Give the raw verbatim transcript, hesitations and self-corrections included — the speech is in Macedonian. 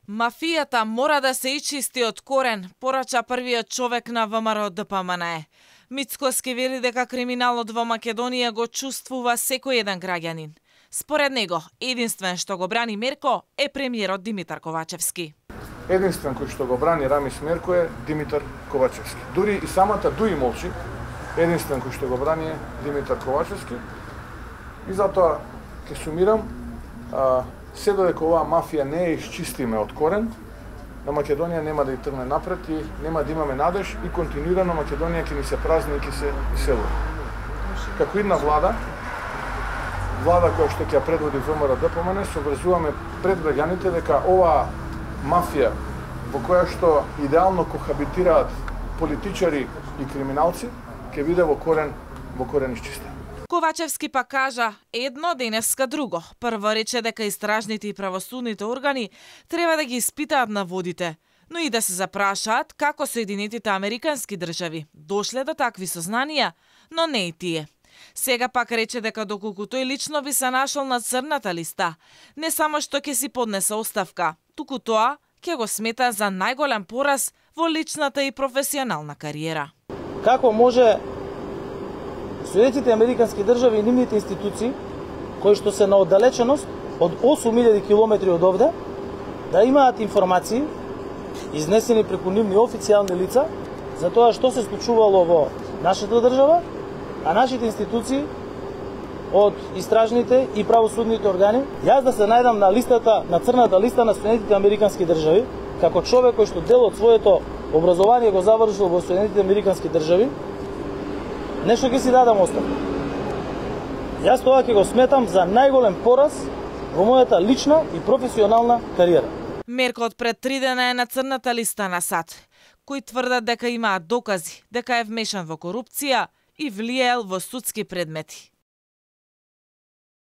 Мафијата мора да се ичисти од корен, порача првиот човек на ВМРО Д П М Н Е. Мицкоски вели дека криминалот во Македонија го чувствува секој еден граѓанин. Според него, единствен што го брани Мерко е премиерот Димитар Ковачевски. Единствен кој што го брани Рамис Мерко е Димитар Ковачевски. Дури и самата Дуи молчи, единствен кој што го брани е Димитар Ковачевски. И затоа ќе сумирам, а, се додека оваа мафија не е исчистиме од корен, на Македонија нема да ја тргне напред и нема да имаме надеж и континуирано Македонија ќе ни се празни и ќе се иселува. Како една влада, влада која што ќе ја предводи ВМРО Д П М Н Е, се обврзуваме пред граѓаните дека оваа мафија во која што идеално кохабитираат политичари и криминалци, ќе биде во корен, во корен исчистена. Ковачевски па кажа едно, денеска друго. Прво рече дека истражните и правосудните органи треба да ги испитаат наводите, но и да се запрашаат како Соединетите Американски држави дошле до такви сознанија, но не и тие. Сега пак рече дека доколку тој лично би се нашол на црната листа, не само што ќе си поднесе оставка, туку тоа ќе го смета за најголем пораз во личната и професионална кариера. Како може Соединетите Американски држави и нивните институции, кои што се на оддалеченост од осум илјади километри од овде, да имаат информации изнесени преку нивни официјални лица за тоа што се случувало во нашата држава, а нашите институции од истражните и правосудните органи, јас да се најдам на листата, на црната листа на Соединетите Американски држави, како човек кој што дел од своето образование го завршил во Соединетите Американски држави, нешто ќе си дадам оставка. Јас тоа ќе го сметам за најголем пораз во мојата лична и професионална кариера. Мерко од пред три дена е на црната листа на САД, кои тврдат дека имаат докази дека е вмешан во корупција и влиел во судски предмети.